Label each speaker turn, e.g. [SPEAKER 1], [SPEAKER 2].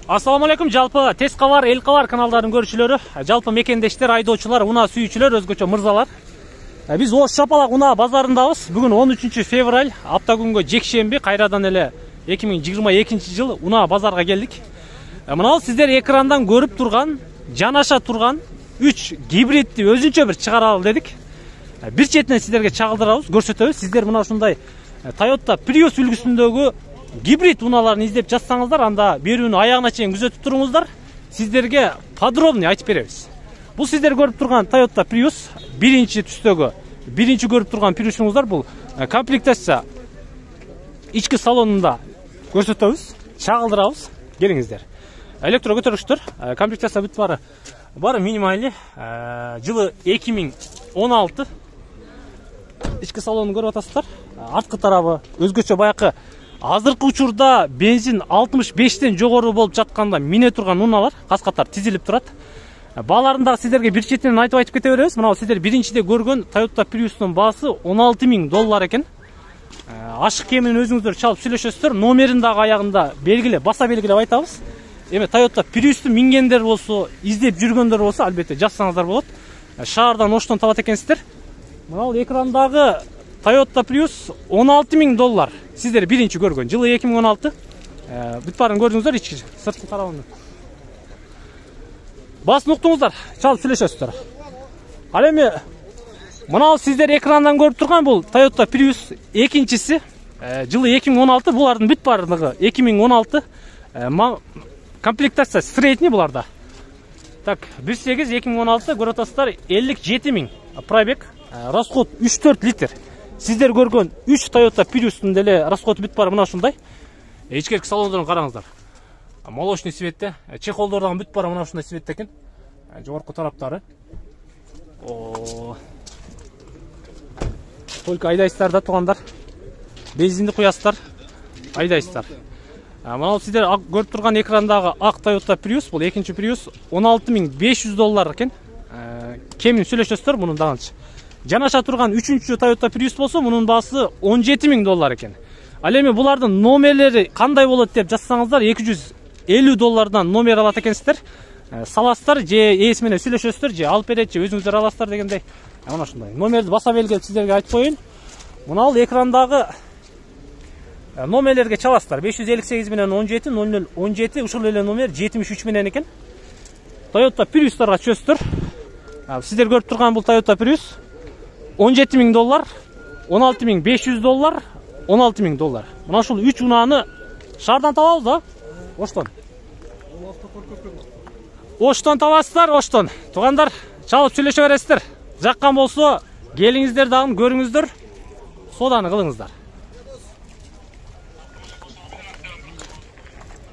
[SPEAKER 1] Ассаламу алейкум, жалпы Тез кабар, Эл кабар каналдарынын көрүүчүлөрү, жалпы мекендештер, айдоочулар, унаа сүйүүчүлөр, өзгөчө мырзалар. Биз Ош Шапалак унаа базарындабыз. Бүгүн 13 февраль, аптагүнгө жекшемби, кайрадан эле 2022 жыл унаа базарга келдик. Мына сиздер экрандан көрүп турган, жанаша турган 3 гибридти өзүнчө бир чыгаралы дедик. Бир четинен сиздерге чагылдырабыз, көрсөтөбүз. Сиздер мына ушундай Toyota Prius үлгүсүндөгү гибрид унааларын издеп жатсаңыздар, анда берүүнү аягына чейин күзөтүп туруңуздар. Сиздерге подробный айтып беребиз. Бул сиздер көрүп турган Toyota Prius, биринчи түстөгү, биринчи көрүп турган Prius'уңуздар, бул комплектация ички салонунда көрсөтөбүз, чагылдырабыз. Келиңиздер. Электро көтөргүчтөр, комплектация бүт бары минималь, жылы 2016. Ички салонун көрүп атасыздар. Арткы тарабы өзгөчө баякы азыркы учурда бензин 65тен жогору болуп жатканда мине турган унаалар каскаттар тизилип турат. Бааларында сиздерге бир четинен айтып кете беребиз. Мына сиздер биринчиде көргөн Toyota Prius'тун баасы $16.000 экен. Ашык кемин өзүңүздөр чалып сүйлөшөсүздөр. Номерин дагы аягында белгилеп, баса белгилеп айтабыз. Эми Toyota Prius'ту мингендер болсо, издеп жүргөндөр болсо, албетте жазсаңыздар болот. Шаардан Оштон табат экенсиздер. Мына экрандагы Toyota Prius $16.000. Сиздер биринчи көргөн, жылы 2016. Бүт барын көрдүңүздөр, ички сырткы тарабын. Басын уктуңуздар, чалып сүйлөшөсүздөр. Ал эми мына сиздер экрандан көрүп турган бул Toyota Prius экинчиси, жылы 2016, булардын бүт бардыгы 2016. Комплектация средний буларда. Так, 1.8 2016 көрүп атасыздар, 57.000 пробег, расход 3-4 литр. Сиздер көргөн 3 Toyota Prius'тун деле расходу бүт бары мына ушундай. Ичкерки салондорун караңыздар. Молочный цветте, чехолдордон бүт бары мына ушундай цветте экен. Жогорку тараптары. Только айдайсыздар да туугандар. Бензинди куясыздар, айдайсыздар. Мына сиздер көрүп турган экрандагы ак Toyota Prius, бул экинчи Prius, $16.500 экен. Кемин сүйлөшөсүздөр мунун дагынчы. Жанаша турган 3-чү Toyota Prius болсо, мунун баасы $17.000 экен. Ал эми булардын номерлери кандай болот деп жазсаңыздар, $250 номер алат экенсиздер. Саласыздар, же ээси менен сүйлөшөсүздөр, же алып берет, же өзүңүздөр аласыздар дегендей. Мына ушундай. Номерди баса белгилеп сиздерге айтып коеюн. Мына экрандагы номерлерге чаласыздар. 558 менен 17 0017, ушул эле номер 73 менен экен. Toyota Prius'тарга чөстүр. Сиздер көрүп турган бул Toyota Prius $17.000, $16.500, $16.000. Мына ушул 3 унааны шаардан табабыз да? Оштон. Оштон табасыздар, Оштон. Туугандар, чалып сүйлөшө бересиздер. Жаккан болсо, келиңиздер дагы көрүңүздөр. Сооданы кылыңыздар.